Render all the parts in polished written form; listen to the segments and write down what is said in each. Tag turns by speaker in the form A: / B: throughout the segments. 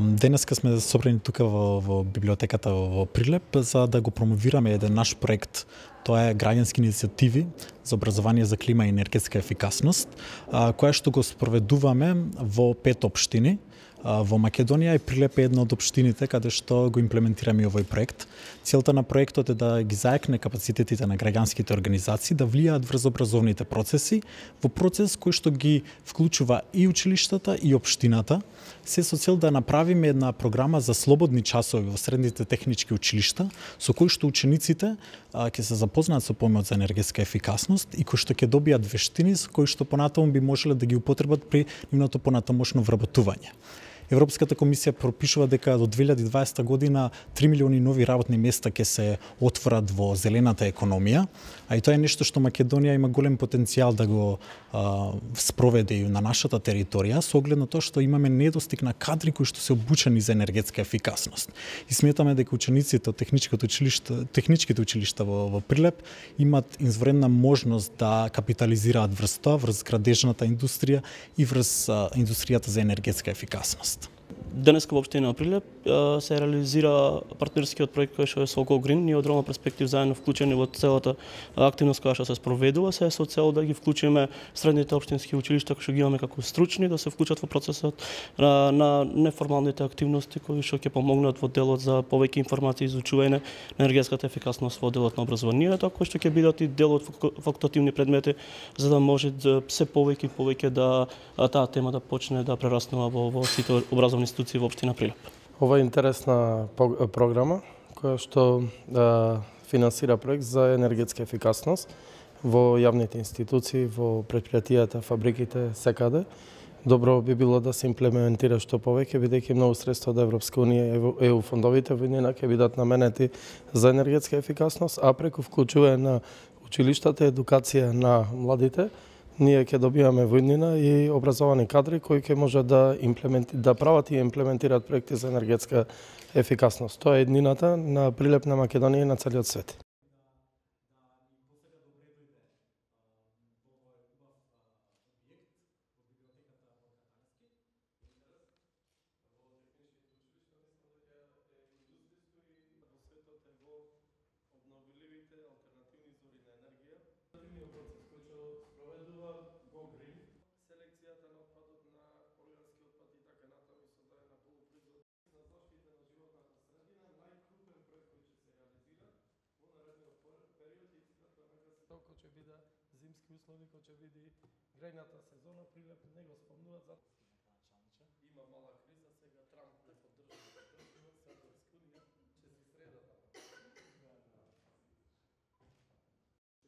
A: Денеска сме собрани тука во библиотеката во Прилеп за да го промовираме еден наш проект. Тоа е граѓански иницијативи за образование за клима и енергетска ефикасност, која што го спроведуваме во 5 општини во Македонија, и Прилеп е една од општините каде што го имплементираме овој проект. Целта на проектот е да ги зајакне капацитетите на граѓанските организации да влијаат врз образовните процеси, во процес кој што ги вклучува и училиштата и општината, се со цел да направиме една програма за слободни часови во средните технички училишта, со кои што учениците ќе се запознаат со поимот за енергетска ефикасност и кои што ќе добијат вештини со кои што понатаму би можеле да ги употребат при нивното понатамошно вработување. Европската комисија пропишува дека до 2020 година 3 милиони нови работни места ќе се отворат во зелената економија, а и тоа е нешто што Македонија има голем потенцијал да го спроведе и на нашата територија, со оглед на тоа што имаме недостиг на кадри кои што се обучени за енергетска ефикасност. И сметаме дека учениците од техничките училишта во Прилеп имат извредна можност да капитализираат врз тоа, врз градежната индустрија и врз индустријата за енергетска ефикасност.
B: Денеска во општина Прилеп се реализира партнерскиот проект кој што е со Go Green. Ние од Рома Перспектив заедно вклучени во целата активност која што се спроведува, се со цел да ги вклучиме средните општински училишта кои што ги имаме како стручни да се вклучат во процесот на неформалните активности кои што ќе помогнат во делот за повеќе информации и изучување на енергетската ефикасност во делот на образованието, кои што ќе бидат и дел од факултативни предмети за да може се повеќе да таа тема да почне да прераснува во сите образовни институции во општина Прилеп.
C: Ова е интересна програма која што финансира проект за енергетска ефикасност во јавните институции, во претпријатијата, фабриките, секаде. Добро би било да се имплементира што повеќе, бидејќи многу средства од Европска унија и ЕУ фондовите во нина ќе бидат наменети за енергетска ефикасност, а преку вклучување на училиштата, едукација на младите, ние ќе добиваме во иднина и образовани кадри кои ќе може да прават и имплементираат проекти за енергетска ефикасност. Тоа е иднината на Прилеп, на Македонија и на целиот свет. Кој ќе биде зимски услови, кој ќе биде грејната сезона, Прилеп не го спомнуваат за има мала криза, сега Трамп не поддржува со Европска унија, ќе се среда таа.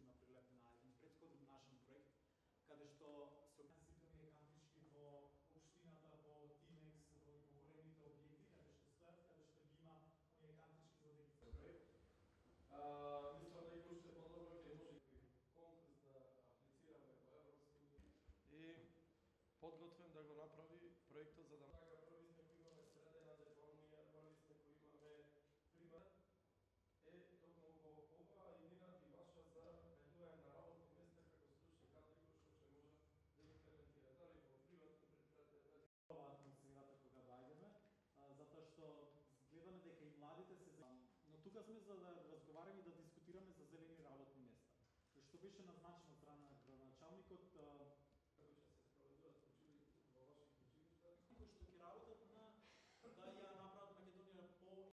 A: На Прилеп на еден претходен нашен проект, каде што се сите кантички во општината, во Тимекс, во големите објекти, каде што стојат, каде што ги има оние кантички за да ги проект.
C: Мислам дека уште подобро ќе може конкурс да аплицираме во Европска унија и подготвен да го направи проектот за да така први сме кои имаме средена деформија, први сме кои имаме пример е токму во ова иднина и ваша за ведување на работни места како стручни кадри кои што ќе може да имплементира дали во приватни претпријатија.
A: Ова атмосферата кога доаѓаме, затоа што гледаме дека и младите се но тука сме за да разговараме и да дискутираме за зелени работни места. Што беше назначено од страна на градоначалникот